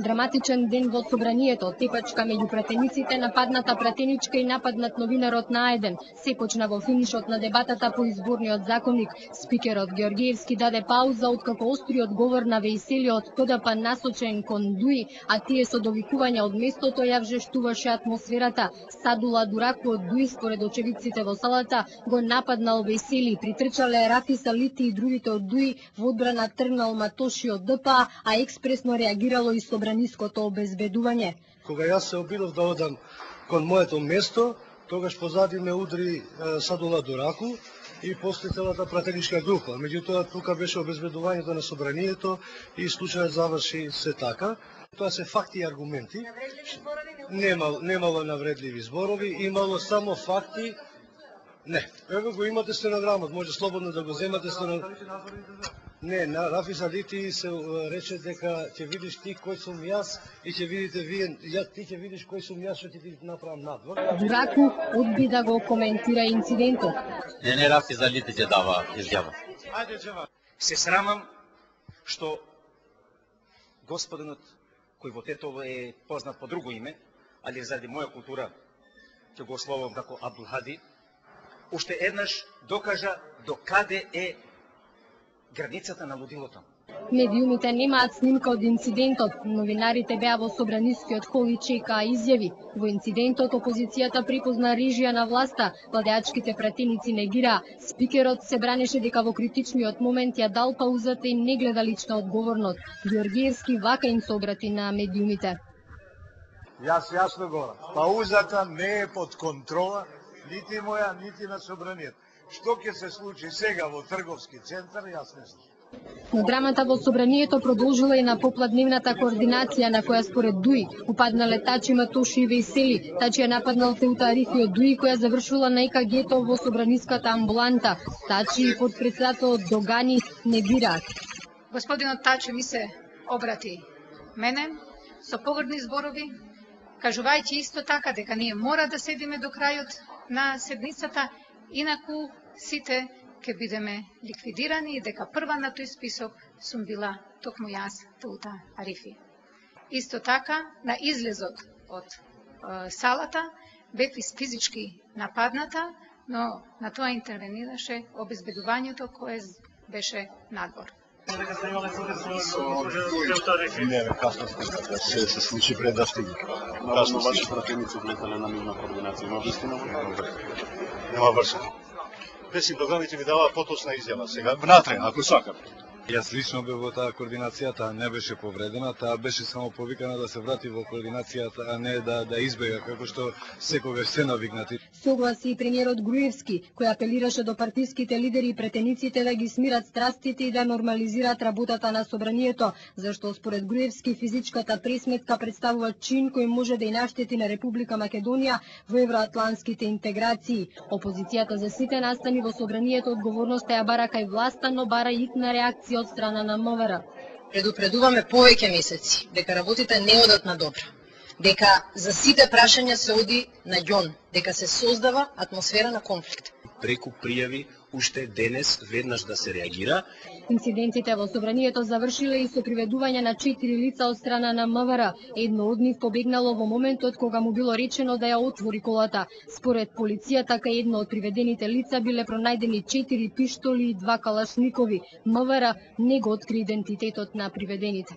Драматичен ден во собранието, тепачка меѓу пратениците, нападната пратеничка и нападнат новинарот на А1. Се почна во финишот на дебатата по изборниот законник. Спикерот Георгиевски даде пауза откако остриот говор на Вејселиот КДП насочен кон ДУИ, а тие со довикувања од местото ја вжештуваше атмосферата. Садула Дураку од ДУИ, според очевидците во салата, го нападнал Весели, притрчале Рафис Алити и другите од ДУИ, во одбрана тргнал Матоши од ДПА, а експресно реагирало и собраниското обезбедување. Кога јас се обидов да одам кон моето место, тогаш позади ме удри Садула Дураку и после целата пратеничка група. Меѓутоа тука беше обезбедувањето на собранието и случајот заврши се така. Тоа се факти и аргументи. Немало навредливи зборови, имало само факти. Не, ево го имате стенограмот, може слободно да го земате стенограмот. Не, на Рафис Алити се рече дека ќе видиш ти кој сум јас и ќе видите вие, ти ќе видиш кој сум јас, што ќе ти направам надвор. Дураку одби да го коментира инцидентот. Не, Рафис Алити ќе дава изјава. Се срамам што господинот кој во Тетово е познат по друго име, али заради моја култура ќе го ословам како Абдулхади, уште еднаш докажа до каде е границата на лудилото. Медиумите немаат снимка од инцидентот. Новинарите беа во собранискиот хол и чекаа изјави. Во инцидентот опозицијата припозна режија на власта, владеачките пратеници негираа. Спикерот се бранеше дека во критичниот момент ја дал паузата и не гледа лична одговорност. Георгиевски вака им се обрати на медиумите. Јас јасно говорам, паузата не е под контрола нити моја, нити на собранието. Што ќе се случи сега во трговски центар, јас не знам. Но драмата во собранието продолжила и на попладневната координација на која според ДУИ упаднале Тачи, Матоши и Вејсели. Тачи ја нападнал Теута Арифи од ДУИ која завршила на ЕКГ-то во собраниската амбуланта. Тачи и подпредседателот Догани негираат. Господинот Тачи ми се обрати мене со погрдни зборови, кажувајќи исто така дека ние мора да седиме до крајот на седницата, инаку сите ќе бидеме ликвидирани и дека прва на тој список сум била токму јас, Теута Арифи. Исто така, на излезот од салата бев физички нападната, но на тоа интервенираше обезбедувањето кое беше надвор. Не, касно се случи пред да стиги. Касно ваши пратеници влетале на мирна координација, има вистина? Нема вршено. Песим Доганите ви дава поточна изјава сега. Внатре, ако сакам. Јас лично бев во таа координација, таа не беше повредена, таа беше само повикана да се врати во координацијата, а не да избега, како што секогаш се навигнати. Согласи и премиерот Груевски, кој апелираше до партиските лидери и претениците да ги смират страстите и да нормализираат работата на собранието, зашто според Груевски физичката пресметка представува чин кој може да и наштети на Република Македонија во евроатлантските интеграции. Опозицијата за сите настани во собранието одговорноста ја бара кај власта, но бара и итна реакција од страна на МВР. Предупредуваме повеќе месеци дека работите не одат на добро, дека за сите прашања се оди на ѓон, дека се создава атмосфера на конфликт. Преку пријави уште денес веднаш да се реагира. Инцидентите во собранието завршиле и со приведување на 4 лица од страна на МВР. Едно од нив побегнало во моментот кога му било речено да ја отвори колата. Според полицијата, кај едно од приведените лица биле пронајдени 4 пиштоли и 2 калашникови. МВР не го откри идентитетот на приведените.